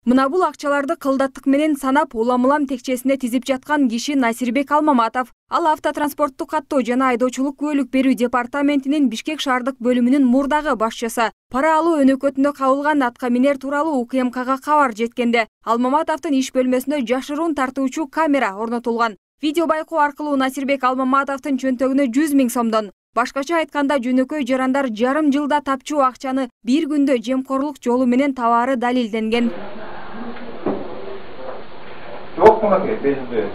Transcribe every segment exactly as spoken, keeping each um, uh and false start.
Мына бул акчаларды кылдаттык менен санап улам-улам текчесине тизип жаткан киши Насирбек Алмаматов. Ал автотранспорттук каттоо жана айдоочулук күбөлүк берүү департаментинин Бишкек шаардык бөлүмүнүн мурдагы башчысы. Пара алуу өнөкөтүндө кабылган атка минер тууралуу У К М Кга кабар жеткенде Алмаматовдун иш бөлмөсүнө жашыруун тартуучу камера орнотулган. Видео байкоо аркылуу Насирбек Алмаматовдун чөнтөгүнө жүз миң сомдон, башкача айтканда жөнөкөй жарандар жарым жылда тапчу акчаны бир күндө жемкорлук жолу менен табаары далилденген. Yok mu ki bezde?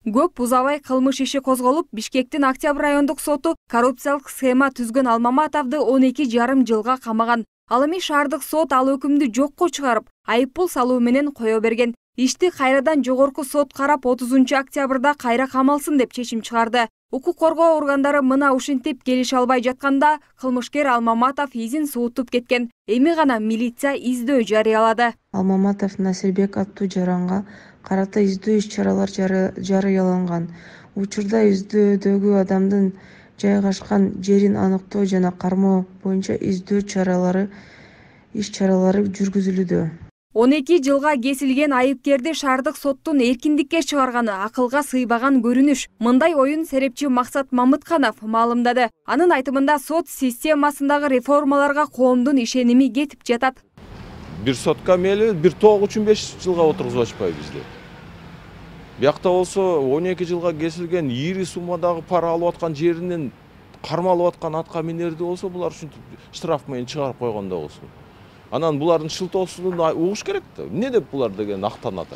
Көп узабай кылмыш иши козголуп, Бишкектин Октябрь райондук соту коррупциялык схема түзгөн Алмаматовду он эки жарым жылга камаган. Ал эми шаардык сот ал өкүмдү жокко чыгарып, айыппул салуу менен кое берген. Ишти кайрадан жогорку сот карап отузунчу октябрда кайра камалсын деп чечим чыгарды. Укук коргоо органдары мына ушинтип келише албай жатканда кылмышкер Алмаматов изин суутуп кеткен. Эми гана милиция издөө жарыялады. Алмаматов Насирбек аттуу жаранга карата издөө иш-чаралар жарыяланган. Учурда издөөдөгү адамдын жайгашкан жерин аныктоо жана кармоо боюнча издөө чаралары иш-чаралары жүргүзүлүүдө. он эки жылга кесилген айыпкерди шаардык соттун эркиндикке чыгарганы акылга сыйбаган көрүнүш. Мындай оюн серепчи Максат Мамытканов маалымдады. Анын айтымында сот системасындагы реформаларга коомдун ишеними кетип жатат. Бир сотка мели бир тоог үчүн беш жылга отургузуп атышпайбы бизде. Биякта болсо он эки жылга кесилген ири суммадагы пара алып аткан жеринен кармалып аткан атка минерди болсо булар ушинтип штраф менен чыгарып койгондо болсо. Анан булардын шылтоосун угуш керек да. Эмне деп булар деген актанат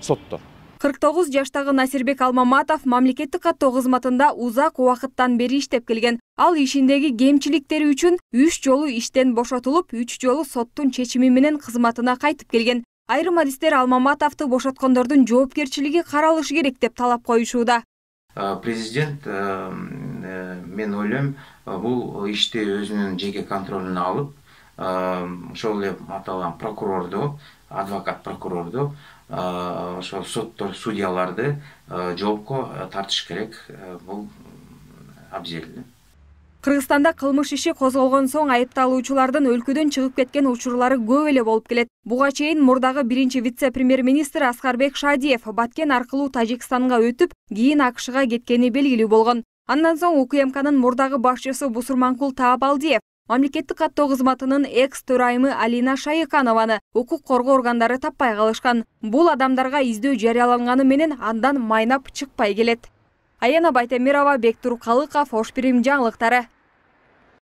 соттор. кырк тогуз жаштагы Насирбек Алмаматов мамлекеттик каттоо кызматында узак убакыттан бери иштеп келген. Ал ишиндеги кемчиликтери үчүн үч жолу иштен бошотулуп, үч жолу соттун чечими менен кызматына кайтып келген. Айрым адистер Алмаматовду бошоткондордун жоопкерчилиги каралышы керек деп талап коюшууда. Президент, мен ойлойм, бул ишти өзүнүн жеке контролуна алып, ошол эле аталган прокурорду, адвокат прокурорду, ошол соттор, судьяларды жоопко тартыш керек. Бул абзел. Кыргызстанда кылмыш иши козголгон соң айыпталуучулардын өлкөдөн чыгып кеткен учурлары көп эле болуп келет. Буга чейин мурдагы биринчи вице-премьер-министр Аскарбек Шадиев Баткен аркылуу Тажикстанга өтүп, кийин А К Шга кеткени белгилүү болгон. Андан соң У К М Кнын мурдагы башчысы Бусурманкул Таабалдиев мамлекеттик каттоо кызматынын экс-төрайымы Алина Шайыканованы укук коргоо органдары таппай калышкан. Бул адамдарга издөө жарыяланганы менен андан майнап чыкпай келет. Аяна Байтемирова, Бектур Калыков, Ош Бирим жаңылыктары.